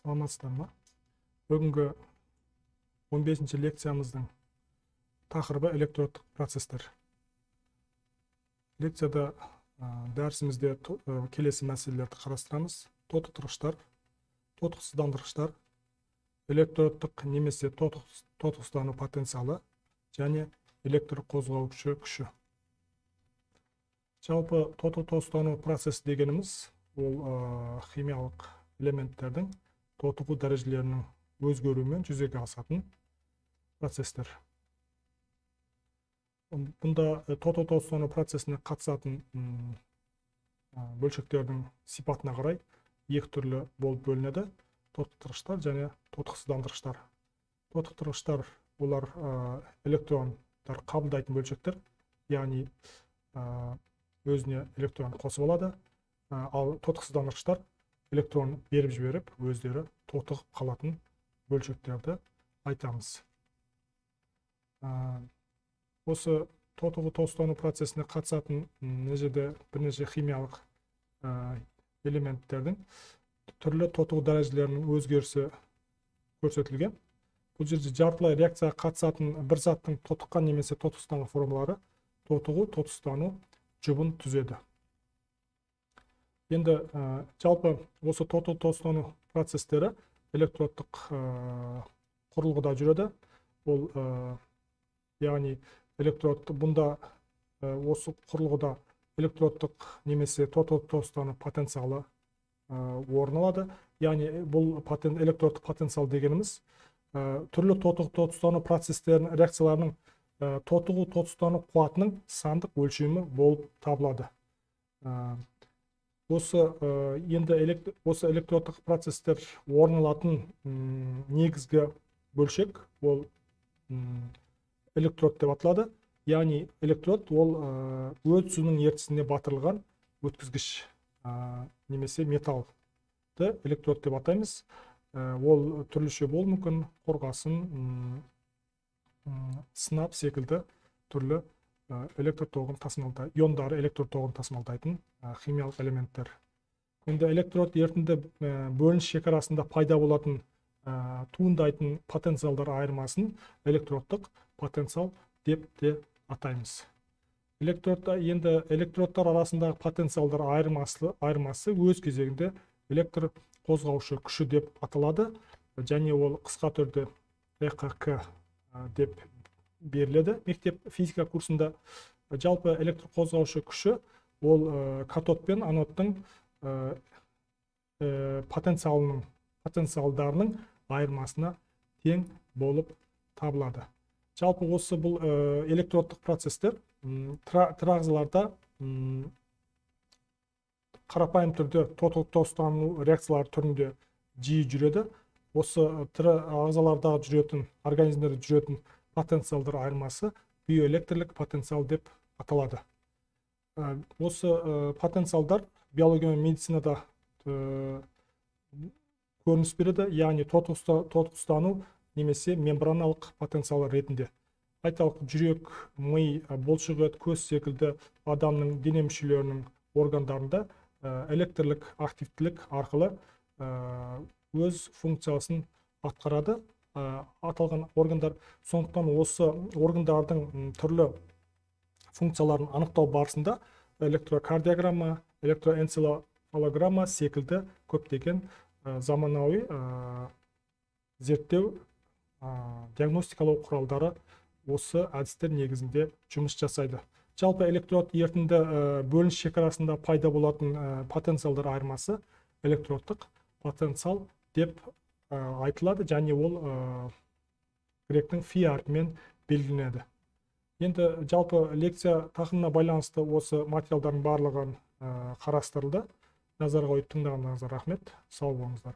Саламатсыздар ма? Бүгінгі 15-ші лекциямыздың тақырыбы электродтық процестер. Лекцияда дәрісімізде келесі мәселелерді қарастырамыз: тотықтырғыштар, тотықсыздандырғыштар, электродтық немесе тотықсыздану потенциалы және электр қозғаушы күші. Жалпы тотықсыздану процесі дегеніміз ол химиялық элементтердің тотығу дәрежелерінің өзгеруімен жүзеге асатын процестер. Бұнда тотықсыздану процесіне қатысатын бөлшектердің сипатына қарай екі түрлі болып бөлінеді: тотықтырғыштар және тотықсыздандырғыштар. Тотықтырғыштар олар электрондар қабылдайтын бөлшектер, яғни өзіне электрон қосып алады, ал тотықсыздандырғыштар электрон беріп жіберіп, өздері тотығып қалатын бөлшектерді айтамыз. Осы тотығу-тотықсыздану процесіне қатысатын бірнеше химиялық элементтердің түрлі тотығу дәрежелерінің өзгерісі көрсетілген. Бұл жерде жартылай реакцияға қатысатын бір заттың тотыққан немесе тотықсызданған формалары тотығу-тотықсыздану жұбын түзеді. Енді жалпы осы тотығу-тотықсыздану процестері электродтық құрылғыда жүреді. Ол яғни бұнда осы құрылғыда электродтық немесе тотығу-тотықсыздану потенциалы орын алады. Яғни бұл электродтық потенциал дегеніміз түрлі тотығу-тотықсыздану процестерінің реакцияларының тотығу-тотықсыздану қуатының сандық өлшемі болып табылады. Осы электродтық процестер орын алатын негізгі бөлшек ол электрод деп аталады. Яғни электрод ол өт суының ертісіне батырылған өткізгіш немесе металлды электрод деп атаймыз. Ол түрліше болуы мүмкін: қорғасын, сынап секілді түрлі электр тоғын тасымалдайтын, иондары электр тоғын тасымалдайтын химиялық элементтер. Енді электрод ерітінді бөлініс шекарасында пайда болатын туындайтын потенциалдар айырмасын электродтық потенциал деп те атаймыз. Енді электродтар арасындағы потенциалдар айырмасы өз кезегінде электр қозғаушы күші деп аталады, және ол қысқа түрде ЭКК деп беріледі мектеп физика курсында. Жалпы электр қозғаушы күші ол катод пен анодтың потенциалдарының айырмасына тең болып табылады. Жалпы осы бұл электродтық процестер тірі қарапайым түрде тотығу-тотықсыздану реакциялары түрінде жиі жүреді. Осы тірі ағзалардағы жүретін, организмдерде жүретін потенциалдар айырмасы биоэлектрлік потенциал деп аталады. Осы потенциалдар биология мен медицинада көрініс береді, яғни тотықсыздану немесе мембраналық потенциал ретінде. Айталық, жүрек, ми, бұлшықет, көз секілді адамның дене мүшелерінің органдарында электрлік активтілік арқылы өз функциясын атқарады аталған органдар. Сондықтан осы органдардың түрлі функцияларын анықтау барысында электрокардиограмма, электроэнцефалограмма секілді көптеген заманауи зерттеу диагностикалау құралдары осы әдістер негізінде жұмыс жасайды. Жалпы электрод ерітінді бөлініс шекарасында пайда болатын потенциалдар айырмасы электродтық потенциал деп айтылады, және ол гректің фи әрпімен белгіленеді. Енді жалпы лекция тақырыбына байланысты осы материалдардың барлығын қарастырылды. Назарға қойып тыңдағандарыңызға рахмет. Сау болыңыздар.